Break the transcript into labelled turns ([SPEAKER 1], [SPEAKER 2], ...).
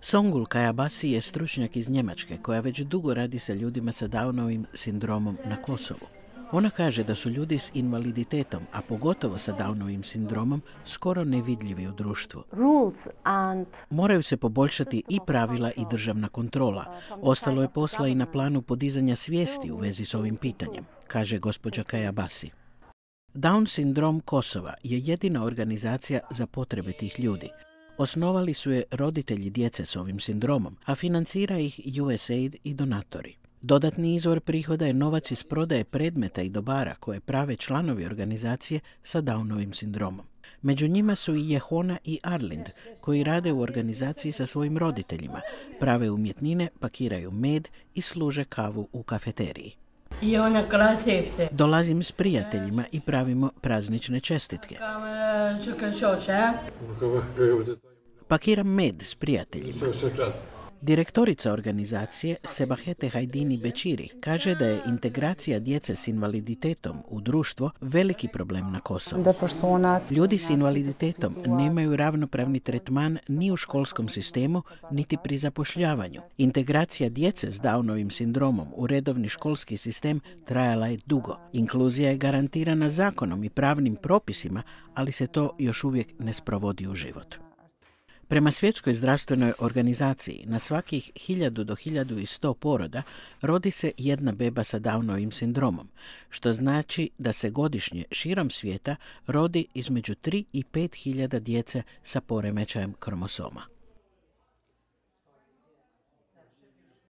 [SPEAKER 1] Songül Kajabasi je stručnjak iz Njemačke koja već dugo radi sa ljudima sa Downovim sindromom na Kosovu. Ona kaže da su ljudi s invaliditetom, a pogotovo sa Downovim sindromom, skoro nevidljivi u društvu. Moraju se poboljšati i pravila i državna kontrola. Ostalo je posla i na planu podizanja svijesti u vezi s ovim pitanjem, kaže gospođa Kajabasi. Down sindrom Kosova je jedina organizacija za potrebe tih ljudi. Osnovali su je roditelji djece s ovim sindromom, a financira ih USAID i donatori. Dodatni izvor prihoda je novac iz prodaje predmeta i dobara koje prave članovi organizacije sa Downovim sindromom. Među njima su i Jehona i Arlind, koji rade u organizaciji sa svojim roditeljima, prave umjetnine, pakiraju med i služe kavu u kafeteriji. Dolazim s prijateljima i pravimo praznične čestitke. Pakiram med s prijateljima. Direktorica organizacije Sebahete Hajdini Bećiri kaže da je integracija djece s invaliditetom u društvo veliki problem na Kosovu. Ljudi s invaliditetom nemaju ravnopravni tretman ni u školskom sistemu, niti pri zapošljavanju. Integracija djece s Downovim sindromom u redovni školski sistem trajala je dugo. Inkluzija je garantirana zakonom i pravnim propisima, ali se to još uvijek ne sprovodi u život. Prema Svjetskoj zdravstvenoj organizaciji, na svakih 1000 do 1100 poroda rodi se jedna beba sa Downovim sindromom, što znači da se godišnje širom svijeta rodi između 3 i 5 hiljada djece sa poremećajem kromosoma.